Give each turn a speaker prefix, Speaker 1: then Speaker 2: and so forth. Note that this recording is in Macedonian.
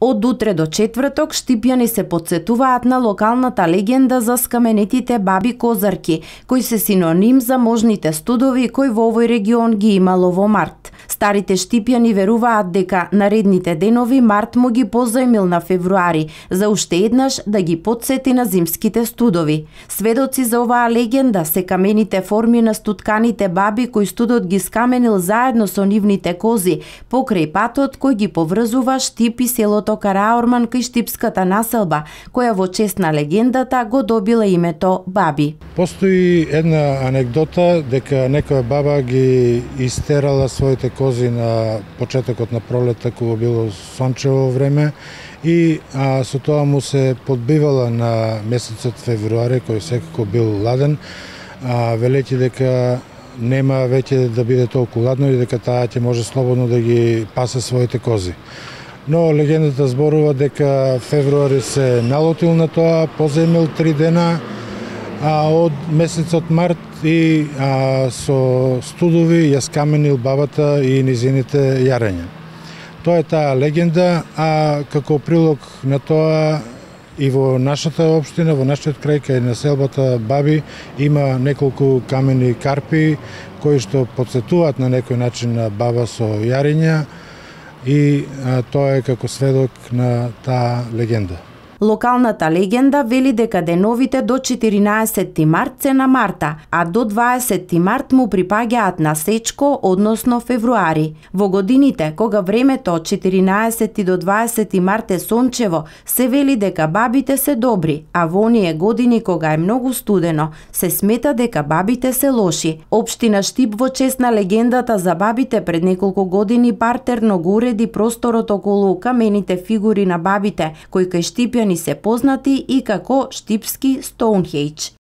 Speaker 1: Од утре до четврток Штипјани се потсетуваат на локалната легенда за скаменетите баби козарки, кои се синоним за можните студови кои во овој регион ги имало во март. Старите Штипјани веруваат дека наредните денови март му ги позајмил на февруари, за уште еднаш да ги потсети на зимските студови. Сведоци за оваа легенда се камените форми на стутканите баби кои студот ги скаменил заедно со нивните кози покрај патот кој ги поврзува Штип и селото Караорман кај штипската населба, која во чест на легендата го добила името Баби.
Speaker 2: Постои една анегдота дека некоја баба ги истерала своите кози на почетокот на пролета кога било сончево време и со тоа му се подбивала на месецот февруари кој секако бил ладен, велејќи дека нема веќе да биде толку ладно и дека таа ќе може слободно да ги пасе своите кози. Но легендата зборува дека февруари се налотил на тоа, позајмил 3 дена од месецот март и со студови ја скаменил бабата и низините јарења. Тоа е таа легенда, а како прилог на тоа и во нашата општина, во нашиот крај кај населбата Баби има неколку камени карпи кои што потсетуваат на некој начин на баба со јарења и тоа е како сведок на таа легенда.
Speaker 1: Локалната легенда вели дека деновите до 14 март се на Марта, а до 20 март му припаѓаат на Сечко, односно февруари. Во годините кога времето од 14 до 20 март е сончево, се вели дека бабите се добри, а во оние години кога е многу студено, се смета дека бабите се лоши. Општина Штип во чест на легендата за бабите пред неколку години партерно го уреди просторот околу камените фигури на бабите, кои кај Штипјани се познати и како штипски Стоунхејдж.